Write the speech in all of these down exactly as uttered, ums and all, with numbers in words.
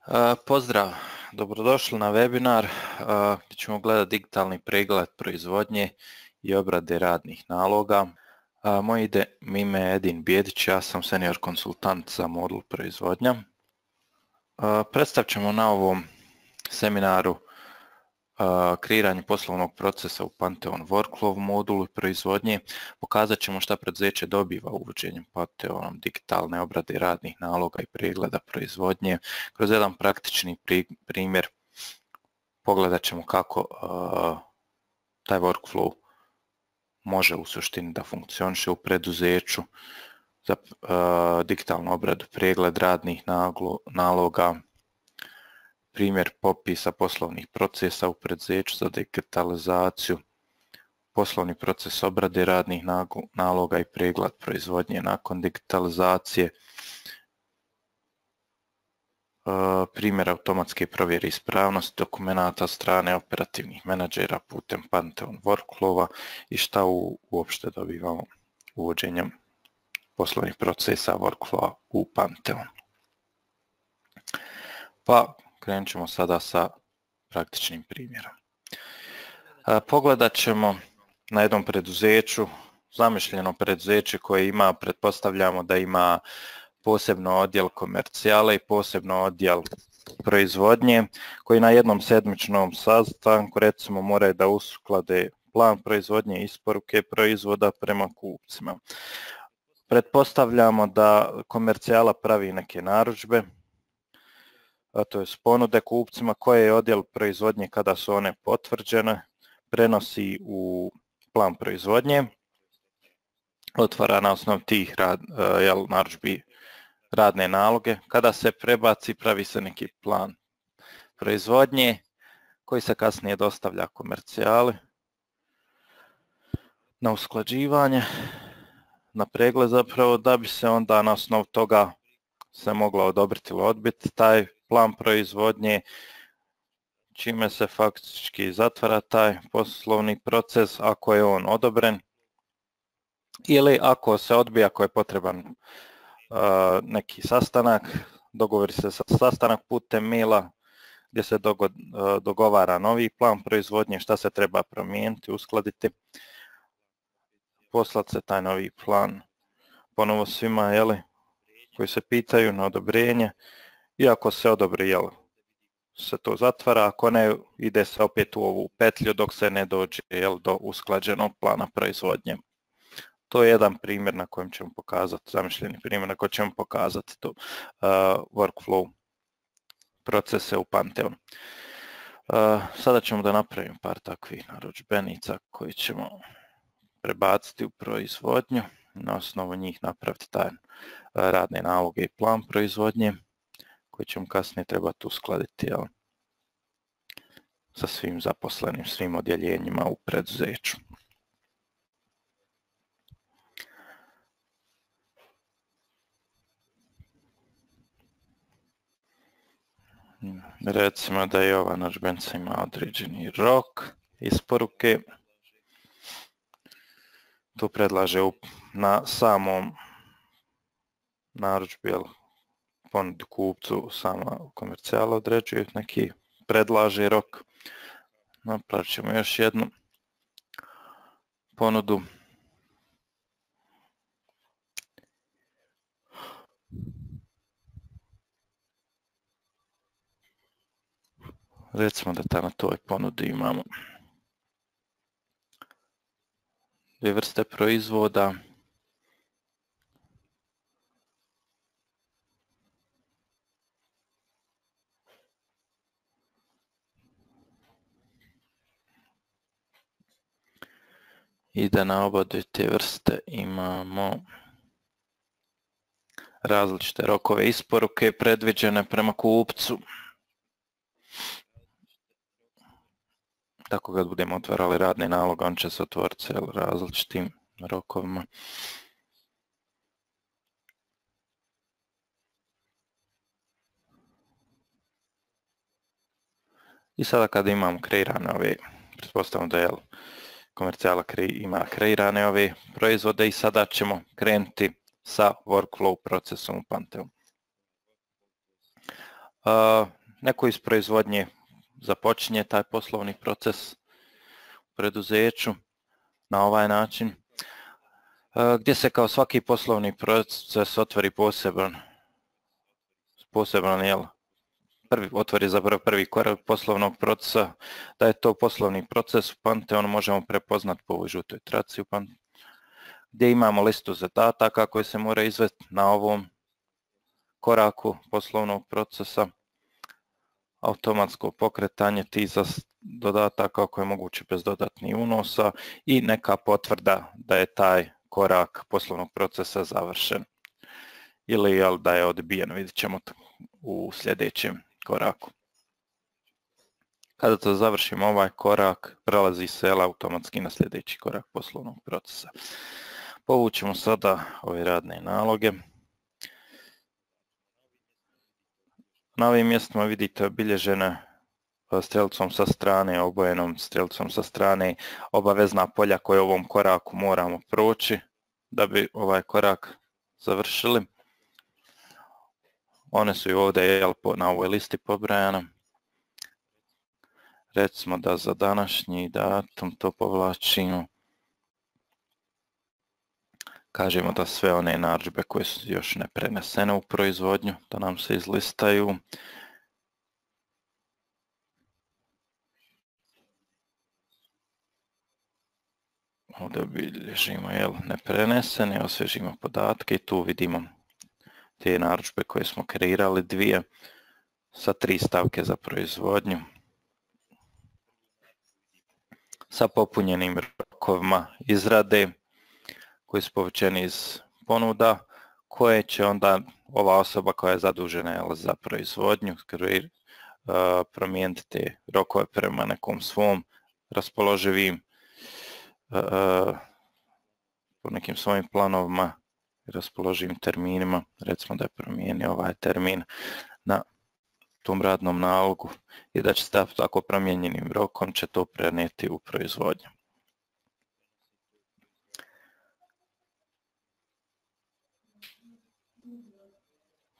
Uh, Pozdrav, dobrodošli na webinar uh, gdje ćemo gledati digitalni pregled proizvodnje i obrade radnih naloga. Uh, Moje ide, ime je Edin Bijedić, ja sam senior konsultant za modul proizvodnja. Uh, Predstavit ćemo na ovom seminaru uh, kreiranje poslovnog procesa u Pantheon Workflow modulu proizvodnje. Pokazat ćemo šta preduzeće dobiva uvođenjem Pantheonom digitalne obrade radnih naloga i pregleda proizvodnje. Kroz jedan praktični primjer pogledat ćemo kako uh, taj workflow može u suštini da funkcioniše u preduzeću za uh, digitalnu obradu, pregled radnih naloga, primjer popisa poslovnih procesa u preduzeću za digitalizaciju, poslovni proces obrade radnih naloga i pregled proizvodnje nakon digitalizacije, primjer automatske provjere ispravnosti dokumenata od strane operativnih menadžera putem Pantheon Workflowa i šta u, uopšte dobivamo uvođenjem poslovnih procesa Workflowa u Pantheon. Pa krenut ćemo sada sa praktičnim primjerom. Pogledat ćemo na jednom preduzeću, zamišljeno preduzeće koje ima, pretpostavljamo da ima posebno odjel komercijale i posebno odjel proizvodnje, koji na jednom sedmičnom sastanku recimo moraju da usklade plan proizvodnje i isporuke proizvoda prema kupcima. Pretpostavljamo da komercijala pravi neke narudžbe, a to je ponude kupcima, koje je odjel proizvodnje kada su one potvrđene prenosi u plan proizvodnje, otvara na osnovu tih rad, jel, narudžbi radne naloge. Kada se prebaci, pravi se neki plan proizvodnje koji se kasnije dostavlja komercijali na usklađivanje, na pregled zapravo, da bi se onda na osnovu toga se moglo odobriti ili odbiti taj plan proizvodnje, čime se faktički zatvara taj poslovni proces ako je on odobren, ili ako se odbija, ako je potreban uh, neki sastanak, dogovori se sa sastanak putem maila gdje se dogo, uh, dogovara novi plan proizvodnje, šta se treba promijeniti, uskladiti, poslati se taj novi plan ponovo svima, jeli, koji se pitaju na odobrenje, i ako se odobri, jel, se to zatvara, ako ne, ide se opet u ovu petlju dok se ne dođe, jel, do usklađenog plana proizvodnje. To je jedan primjer na kojem ćemo pokazati, zamišljeni primjer na kojem ćemo pokazati to uh, workflow procese u Pantheonu. Uh, sada ćemo da napravimo par takvih narudžbenica koji ćemo prebaciti u proizvodnju, na osnovu njih napraviti taj uh, radne naloge i plan proizvodnje, koji ćemo kasnije trebati uskladiti, jel, sa svim zaposlenim, svim odjeljenjima u preduzeću. Recimo da je ova narudžbenica ima određeni rok isporuke. Tu predlaže na samom narudžbi, jel, ponudi kupcu sama komercijala određuje neki predlaže rok. Napravit ćemo još jednu ponudu. Recimo da tamo na toj ponudi imamo dvije vrste proizvoda. I da na oba te vrste imamo različite rokove isporuke predviđene prema kupcu. Tako kad budemo otvarali radni nalog, on će se otvoriti s različitim rokovima. I sada kada imamo kreirane ove, pretpostavljamo da je komercijala ima kreirane ove proizvode, i sada ćemo krenuti sa workflow procesom u Pantheonu. neko iz proizvodnje započinje taj poslovni proces u preduzeću na ovaj način, gdje se kao svaki poslovni proces otvori poseban, poseban jel, prvi, otvori za prvi korak poslovnog procesa, da je to poslovni proces u Pantheonu možemo prepoznati po ovoj žutoj traci u Pantheonu, gdje imamo listu zadataka koje se mora izvesti na ovom koraku poslovnog procesa, automatsko pokretanje tih dodataka ako je moguće bez dodatnih unosa i neka potvrda da je taj korak poslovnog procesa završen ili jel, da je odbijen, vidjet ćemo u sljedećem koraku. Kada to završimo ovaj korak, prelazi se jel, automatski na sljedeći korak poslovnog procesa. Povućemo sada ove radne naloge. Na ovim mjestima vidite obilježene strelicom sa strane, obojenom strelicom sa strane, obavezna polja koje u ovom koraku moramo proći da bi ovaj korak završili. One su i ovdje jel, na ovoj listi pobrajane. Recimo da za današnji datum to povlačimo. Kažemo da sve one narudžbe koje su još ne prenesene u proizvodnju, da nam se izlistaju. Ovdje obilježimo jel, neprenesene, osvježimo podatke i tu vidimo te narudžbe koje smo kreirali, dvije sa tri stavke za proizvodnju, sa popunjenim rokovima izrade koji su povučeni iz ponuda, koje će onda ova osoba koja je zadužena jel, za proizvodnju uh, promijeniti te rokove prema nekom svom raspoloživim uh, po nekim svojim planovima i raspoloživim terminima. Recimo da je promijenio ovaj termin na tom radnom nalogu i da će se tako promijenjenim rokom će to prenijeti u proizvodnju.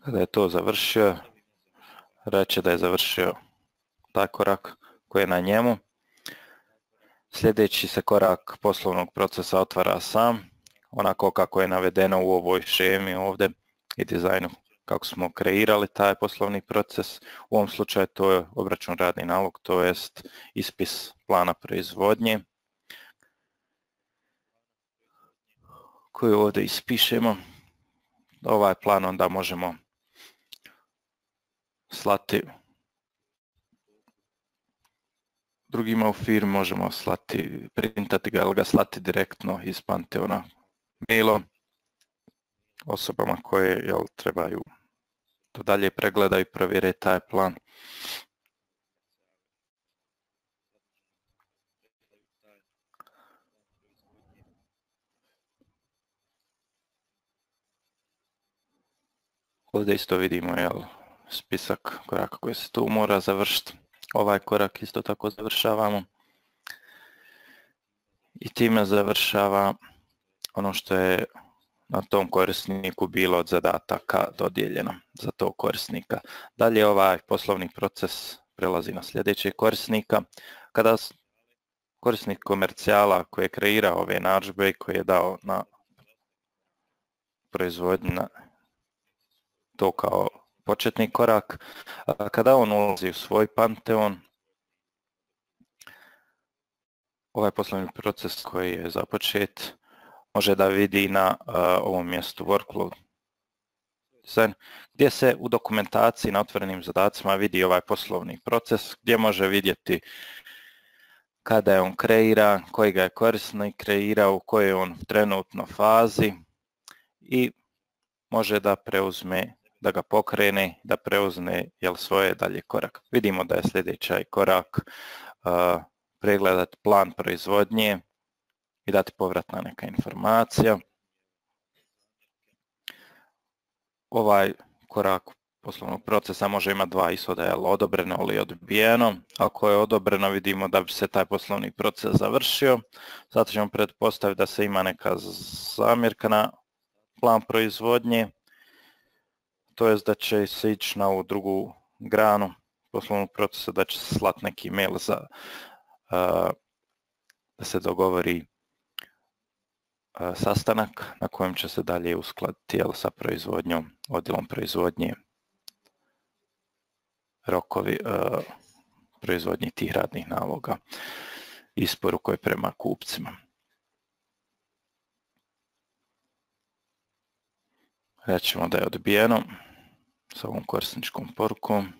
Kada je to završio, reće da je završio taj korak koji je na njemu. Sljedeći se korak poslovnog procesa otvara sam, onako kako je navedeno u ovoj šemi ovdje i dizajnu kako smo kreirali taj poslovni proces. U ovom slučaju to je obračun radni nalog, to jest ispis plana proizvodnje koju ovdje ispišemo. Ovaj plan onda možemo slati drugima u firmi, možemo slati, printati ga ili ga slati direktno iz Pantheona mailom osobama koje jel, trebaju da dalje pregledaju i provjere taj plan. Ovdje isto vidimo jel, spisak koraka koji se tu mora završiti. Ovaj korak isto tako završavamo. I time završava ono što je na tom korisniku bilo od zadataka dodijeljeno za tog korisnika. Dalje ovaj poslovni proces prelazi na sljedećeg korisnika. Kada korisnik komercijala koji je kreirao ove narudžbe i koji je dao na proizvodnju na to kao početni korak, kada on ulazi u svoj Pantheon, ovaj poslovni proces koji je započet može da vidi na uh, ovom mjestu workflow design, gdje se u dokumentaciji na otvorenim zadacima vidi ovaj poslovni proces, gdje može vidjeti kada je on kreiran, koji ga je korisnik kreirao, u kojoj je on trenutno fazi i može da preuzme, da ga pokrene, da preuzme jel, svoje dalje korak. Vidimo da je sljedeći korak uh, pregledati plan proizvodnje i dati povratna neka informacija. Ovaj korak poslovnog procesa može imati dva ishoda, jel, odobreno ili odbijeno. Ako je odobreno, vidimo da bi se taj poslovni proces završio. Zato ćemo pretpostaviti da se ima neka zamjerka na plan proizvodnje, to jest da će se ići na ovu drugu granu poslovnog procesa da će se slati neki mail za uh, da se dogovori uh, sastanak na kojem će se dalje uskladiti jel, sa proizvodnjom, odjelom proizvodnje, rokovi uh, proizvodnje tih radnih naloga, isporuke prema kupcima. Rećemo da je odbijeno s ovom korisničkom porukom.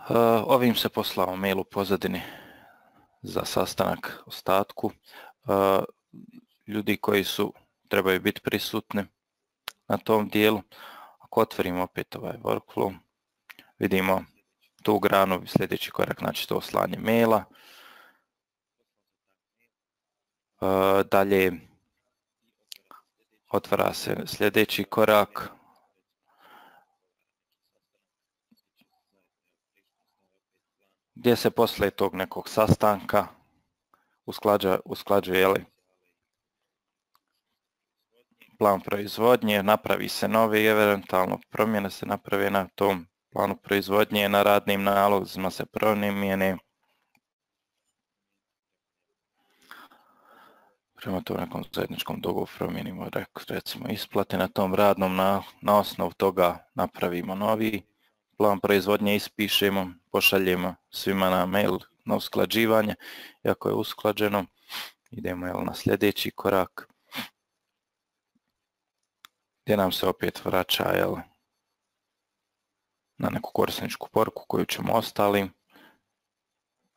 Uh, ovim se poslao mail u pozadini za sastanak ostatku. Uh, ljudi koji su trebaju biti prisutni na tom dijelu. Ako otvorimo opet ovaj workflow, vidimo tu granu, sljedeći korak, znači to slanje maila. Uh, dalje otvara se sljedeći korak. Gdje se poslije tog nekog sastanka usklađuje, usklađuje jeli, plan proizvodnje, napravi se novi, eventualno promjene se naprave na tom planu proizvodnje, na radnim nalozima se promjene. Prema to nekom zajedničkom dogovoru promijenimo recimo isplate na tom radnom, na, na osnovu toga napravimo novi plan proizvodnje, ispišemo, pošaljemo svima na mail na usklađivanje. I ako je usklađeno, idemo jel, na sljedeći korak, gdje nam se opet vraća jel, na neku korisničku poruku koju ćemo ostali uh,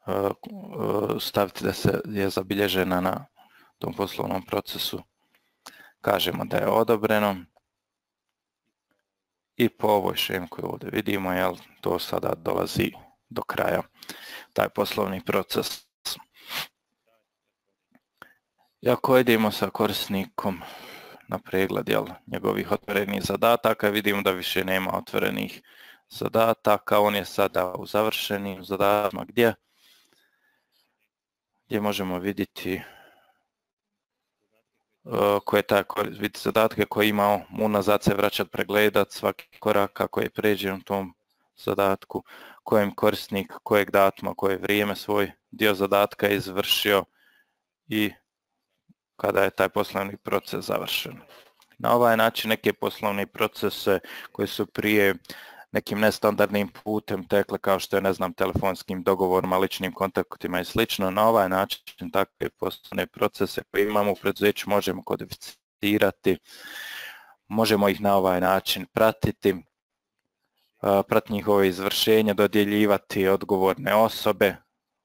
uh, staviti da se je zabilježena na tom poslovnom procesu. Kažemo da je odobreno. I po ovoj šemi koju ovdje vidimo, jel, to sada dolazi do kraja, taj poslovni proces. I ako idemo sa korisnikom na pregled jel, njegovih otvorenih zadataka, vidimo da više nema otvorenih zadataka, on je sada u završenim zadatima gdje, gdje možemo vidjeti koje taj vidjeti zadatke koje imao, unazad se vraćati, pregledat svaki korak kako je pređen u tom zadatku, kojem korisnik, kojeg datuma, koje vrijeme svoj dio zadatka je izvršio i kada je taj poslovni proces završen. Na ovaj način neke poslovne procese koji su prije nekim nestandardnim putem tekle, kao što je, ne znam, telefonskim dogovorima, ličnim kontaktima i slično, na ovaj način takve poslovne procese koje imamo u preduzeću možemo kodificirati, možemo ih na ovaj način pratiti, pratiti njihovo izvršenje, dodjeljivati odgovorne osobe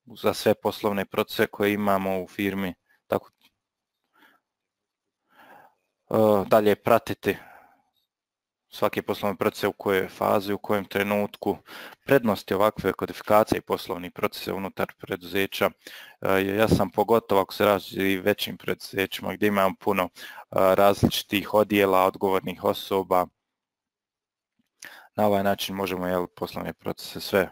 za sve poslovne procese koje imamo u firmi, tako dalje pratiti svaki poslovni proces u kojoj fazi, u kojem trenutku. Prednosti ovakve kodifikacije i poslovnih procesa unutar preduzeća, ja sam pogotovo ako se radi većim preduzećima gdje imamo puno različitih odjela, odgovornih osoba. Na ovaj način možemo jel, poslovne procese sve,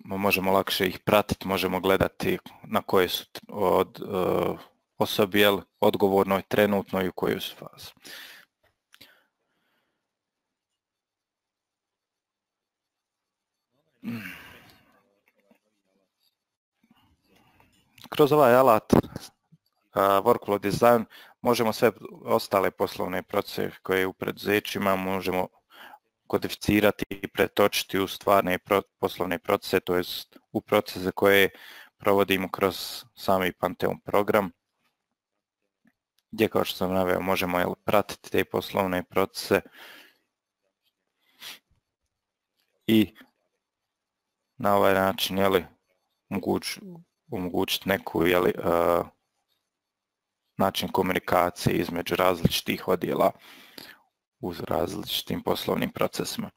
možemo lakše ih pratiti, možemo gledati na koje su od uh, osobi jel, odgovornoj, trenutno i u kojoj su fazi. Kroz ovaj alat uh, Workflow Design možemo sve ostale poslovne procese koje u preduzećima možemo kodificirati i pretočiti u stvarne pro, poslovne procese, to jest u procese koje provodimo kroz sami Pantheon program, gdje, kao što sam naveo, možemo jel, pratiti te poslovne procese i na ovaj način jeli, moguć, omogućiti neku jeli, uh, način komunikacije između različitih odjela u različitim poslovnim procesima.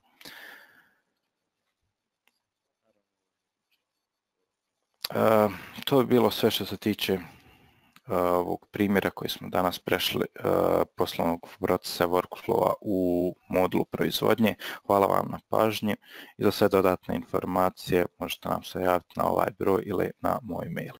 Uh, to je bilo sve što se tiče uh, ovog primjera koji smo danas prešli uh, poslovnog procesa workflowa u modulu proizvodnje. Hvala vam na pažnji i za sve dodatne informacije možete nam se javiti na ovaj broj ili na moj mail.